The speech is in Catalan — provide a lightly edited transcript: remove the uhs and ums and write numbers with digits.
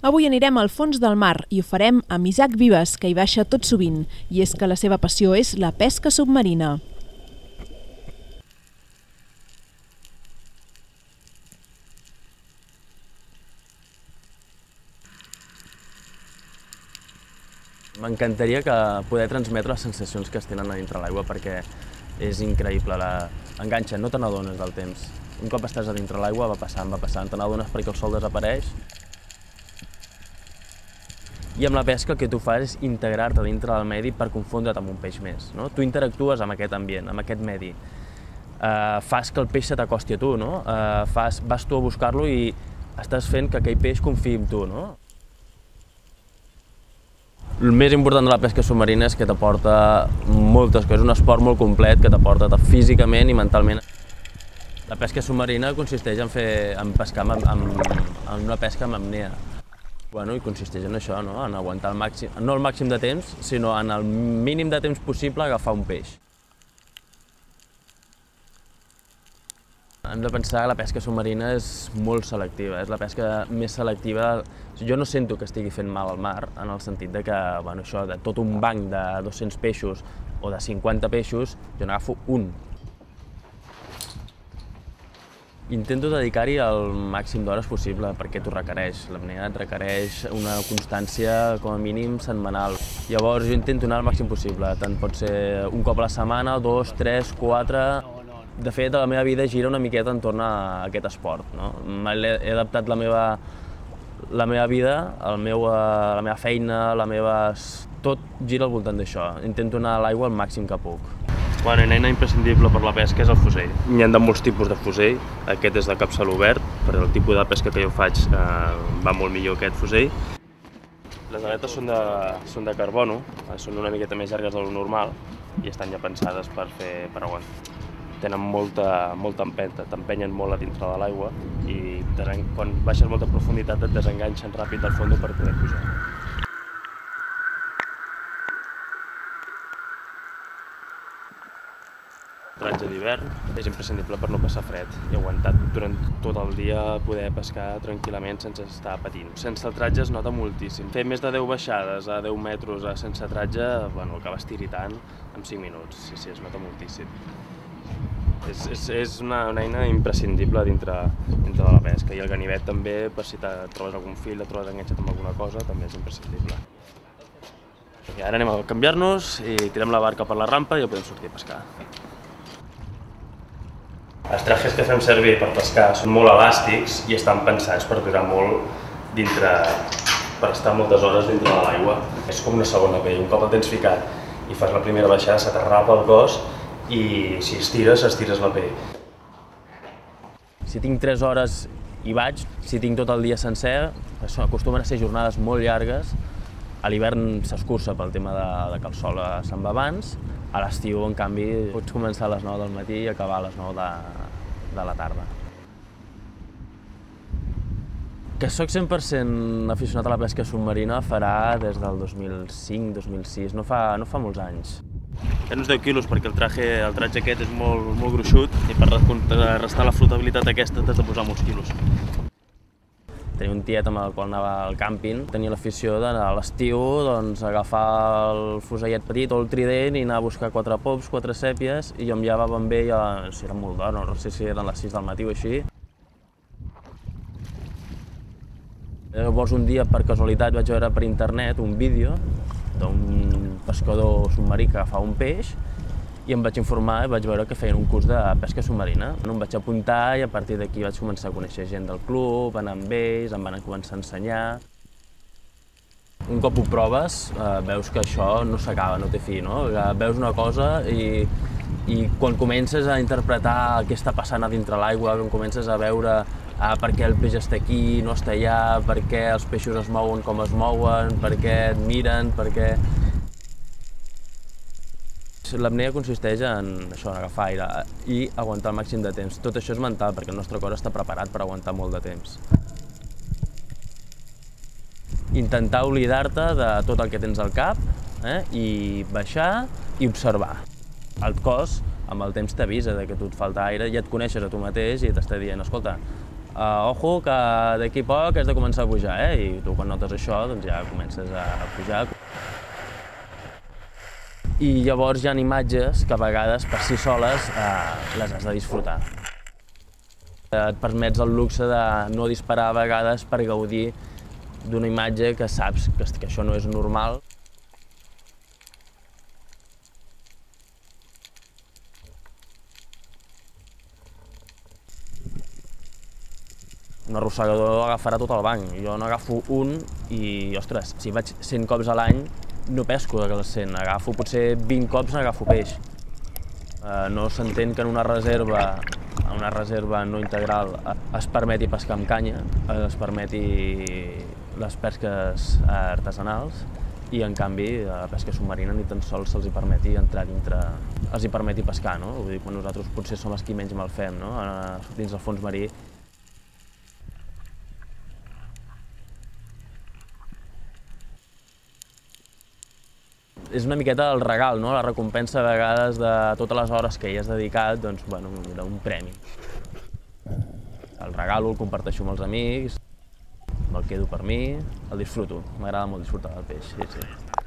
Avui anirem al fons del mar i ho farem amb Isaac Vives, que hi baixa tot sovint, i és que la seva passió és la pesca submarina. M'encantaria poder transmetre les sensacions que es tenen a dintre l'aigua perquè és increïble, enganxa, no te n'adones del temps. Un cop estàs a dintre l'aigua va passant, te n'adones perquè el sol desapareix. I amb la pesca el que tu fas és integrar-te dintre del medi per confondre't amb un peix més. No? Tu interactues amb aquest ambient, amb aquest medi. Fas que el peix se t'acosti a tu, no? Vas tu a buscar-lo i estàs fent que aquell peix confiï en tu. No? El més important de la pesca submarina és que t'aporta moltes coses, és un esport molt complet que t'aporta físicament i mentalment. La pesca submarina consisteix en pescar en una pesca amb apnea. I consisteix en això, en aguantar el màxim, no el màxim de temps, sinó en el mínim de temps possible agafar un peix. Hem de pensar que la pesca submarina és molt selectiva, és la pesca més selectiva. Jo no sento que estigui fent mal al mar, en el sentit de que això de tot un banc de 200 peixos o de 50 peixos, jo n'agafo un. Intento dedicar-hi el màxim d'hores possible perquè t'ho requereix. L'apnea et requereix una constància com a mínim setmanal. Llavors jo intento anar al màxim possible, tant pot ser un cop a la setmana, 2, 3, 4... De fet, la meva vida gira una miqueta entorn a aquest esport. He adaptat la meva vida, la meva feina, tot gira al voltant d'això. Intento anar a l'aigua el màxim que puc. Una eina imprescindible per la pesca és el fusell. N'hi ha de molts tipus de fusell. Aquest és de capçal obert, per el tipus de pesca que jo faig va molt millor aquest fusell. Les aletes són de carbono, són una miqueta més llargues del normal i estan ja pensades per aguantar. Tenen molta empenta, t'empenyen molt a dintre de l'aigua i quan baixes molta profunditat et desenganxen ràpid del fons per poder pujar. Tratge d'hivern és imprescindible per no passar fred i aguantar durant tot el dia, poder pescar tranquil·lament sense estar patint. Sense el tratge es nota moltíssim. Fer més de 10 baixades a 10 metres sense tratge, acabes tiritant en 5 minuts. Sí, es nota moltíssim. És una eina imprescindible dintre de la pesca i el ganivet també, per si trobes algun fil, et trobes enganxat amb alguna cosa, també és imprescindible. I ara anem a canviar-nos i tirem la barca per la rampa i ja podem sortir a pescar. Els trajes que fem servir per pescar són molt elàstics i estan pensats per durar molt per estar moltes hores dintre de l'aigua. És com una segona pell, un cop el tens ficat i fas la primera baixada se t'arrapa el cos i si estires la pell. Si tinc 3 hores hi vaig, si tinc tot el dia sencer, acostumen a ser jornades molt llargues. A l'hivern s'escurça pel tema de que el sol se'n va abans. A l'estiu, en canvi, pots començar a les 9 del matí i acabar a les 9 de la tarda. Que soc 100% aficionat a la pesca submarina farà des del 2005-2006, no fa molts anys. Hi ha uns 10 quilos perquè el tratge aquest és molt gruixut i per restar la flotabilitat aquesta t'has de posar molts quilos. Tenia un tiet amb el qual anava al càmping, tenia l'afició d'anar a l'estiu, agafar el fusellet petit o el trident i anar a buscar 4 pops, 4 sèpies i jo em llevava amb ell, si era molt d'hora, no sé si eren les 6 del matí o així. Llavors un dia, per casualitat, vaig veure per internet un vídeo d'un pescador submarí que agafava un peix i em vaig informar i vaig veure que feien un curs de pesca submarina. Em vaig apuntar i a partir d'aquí vaig començar a conèixer gent del club, anar amb ells, em van començar a ensenyar. Un cop ho proves, veus que això no s'acaba, no té fi, no? Veus una cosa i quan comences a interpretar què està passant a dintre l'aigua, quan comences a veure per què el peix està aquí, no està allà, per què els peixos es mouen com es mouen, per què et miren, per què... L'apnea consisteix en això, en agafar aire i aguantar el màxim de temps. Tot això és mental, perquè el nostre cor està preparat per aguantar molt de temps. Intentar oblidar-te de tot el que tens al cap i baixar i observar. El cos, amb el temps t'avisa que a tu et falta aire, ja et coneixes a tu mateix i t'està dient, escolta, ojo, que d'aquí a poc has de començar a pujar, i tu quan notes això doncs ja comences a pujar. I llavors hi ha imatges que a vegades per si soles les has de disfrutar. Et permets el luxe de no disparar a vegades per gaudir d'una imatge que saps que això no és normal. Un arrossegador agafarà tot el banc. Jo n'agafo un i, ostres, si vaig 100 cops a l'any, no pesco els 100, agafo potser 20 cops n'agafo peix. No s'entén que en una reserva no integral es permeti pescar amb canya, es permeti les pesques artesanals i, en canvi, la pesca submarina ni tan sols se'ls permeti entrar dintre, els permeti pescar, no? Vull dir, quan nosaltres potser som els qui menys mal fem, no? Dins del fons marí. És una miqueta el regal, no? La recompensa a vegades de totes les hores que hi has dedicat, doncs, bueno, d'un premi. El regalo, el comparteixo amb els amics, me'l quedo per mi, el disfruto. M'agrada molt disfrutar del peix, sí.